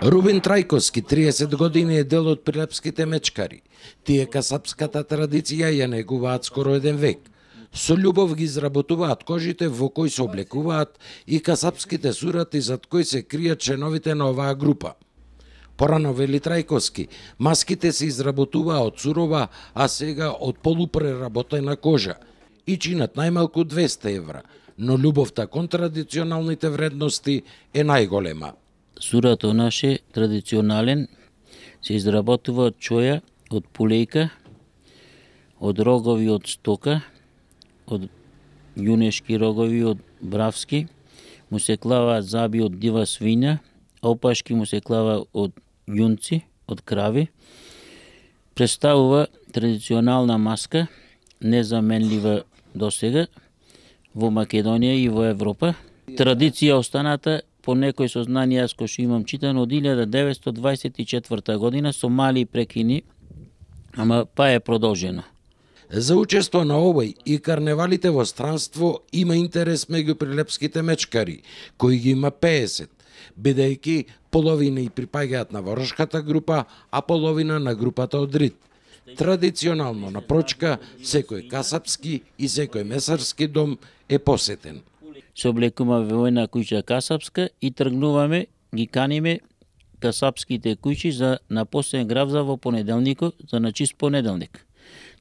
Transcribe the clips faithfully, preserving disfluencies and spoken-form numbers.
Рубин Трајковски, триесет години, е дел од прилепските мечкари. Тие касапската традиција ја негуваат скоро еден век. Со љубов ги изработуваат кожите во кои се облекуваат и касапските сурати зад кои се кријат членовите на оваа група. Порано, вели Трајковски, маските се изработуваа од сурова, а сега од полупреработена кожа и чинат најмалку двесте евра, но љубовта кон традиционалните вредности е најголема. Сурато наше традиционален се изработува од чоја, од пулејка, од рогови од стока, од јунешки рогови од бравски, му се клаваат заби од дива свиња, а опашки му се клава од јунци, од крави. Представува традиционална маска, незаменлива досега во Македонија и во Европа. Традиција останата по некои сознанија јас кој што имам читано од илјада деветстотини дваесет и четврта година со мали прекини, ама па е продолжено. За учество на овој и карневалите во странство има интерес меѓу прилепските мечкари, кои ги има пеесет, бидејќи половина и припаѓаат на воршката група, а половина на групата од Рид. Традиционално на Прочка секој касапски и секој месарски дом е посетен. Се облекуваме во една куќа касапска и тргнуваме, ги каниме касапските куќи за на посебен гравза во понеделникот, за на чист понеделник.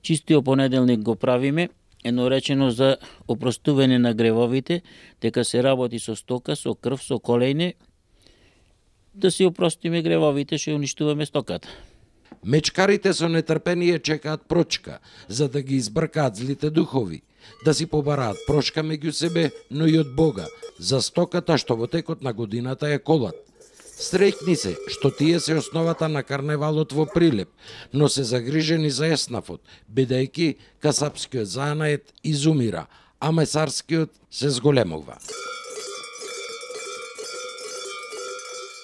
Чистиот понеделник го правиме, едно речено за опростување на гревовите, дека се работи со стока, со крв, со колејне, да си опростиме гревовите, што уништуваме стоката. Мечкарите со нетрпение чекаат Прочка, за да ги избркаат злите духови, да си побараат прошка меѓу себе, но и од Бога, за стоката што во текот на годината ја колат. Среќни се што тие се основата на карневалот во Прилеп, но се загрижени за еснафот, бидејќи касапскиот занает изумира, а месарскиот се зголемува.